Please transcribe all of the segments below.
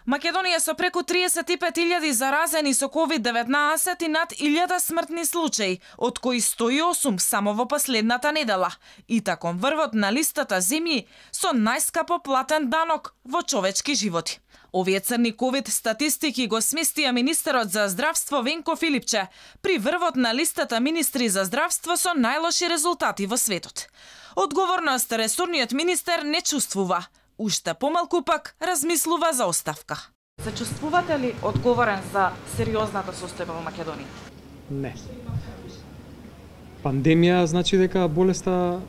Македонија со преку 35.000 заразени со COVID-19 и над 1000 смртни случаи, од кои 108 само во последната недела. И таком врвот на листата земји со најскапо платен данок во човечки животи. Овие црни ковид статистики го сместија министерот за здравство Венко Филипче при врвот на листата министри за здравство со најлоши резултати во светот. Одговорност ресорниот министер не чувствува. Уште помалку пак размислува за оставка. Се чувствувате ли одговорен за сериозната состојба во Македонија? Не. Пандемија значи дека болеста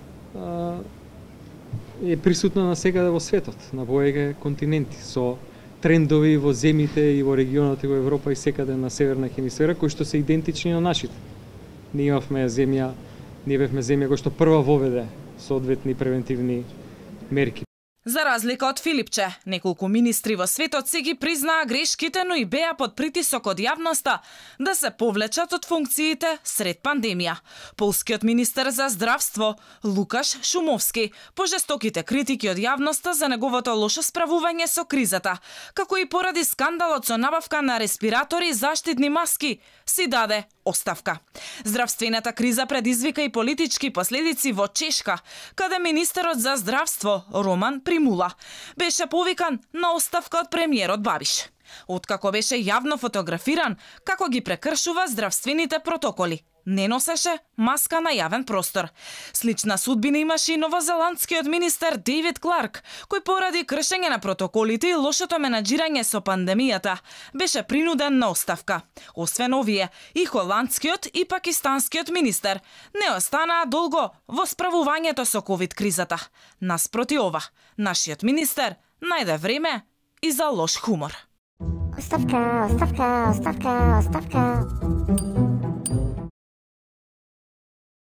е присутна насекаде во светот, на повеќе континенти, со трендови во земјите и во регионот и во Европа и секаде на северна хемисфера кои што се идентични на нашите. Ние бевме земја која што прва воведе соодветни превентивни мерки. За разлика од Филипче, неколку министри во светот се ги признаа грешките, но и беа под притисок од јавноста да се повлечат од функциите сред пандемија. Полскиот министер за здравство Лукаш Шумовски пожестоките критики од јавноста за неговото лошо справување со кризата, како и поради скандалот со набавка на респиратори и заштитни маски, си даде оставка. Здравствената криза предизвика и политички последици во Чешка, каде министерот за здравство Роман Примула беше повикан на оставка од премиерот Бабиш, откако беше јавно фотографиран како ги прекршува здравствените протоколи. Не носеше маска на јавен простор. Слична судбина имаше и новозеландскиот министер Дейвид Кларк, кој поради кршење на протоколите и лошото менаџирање со пандемијата беше принуден на оставка. Освен овие, и холандскиот и пакистанскиот министер не останаа долго во справувањето со ковид кризата. Наспроти ова, нашиот министер најде време и за лош хумор. Оставка, оставка, оставка, оставка.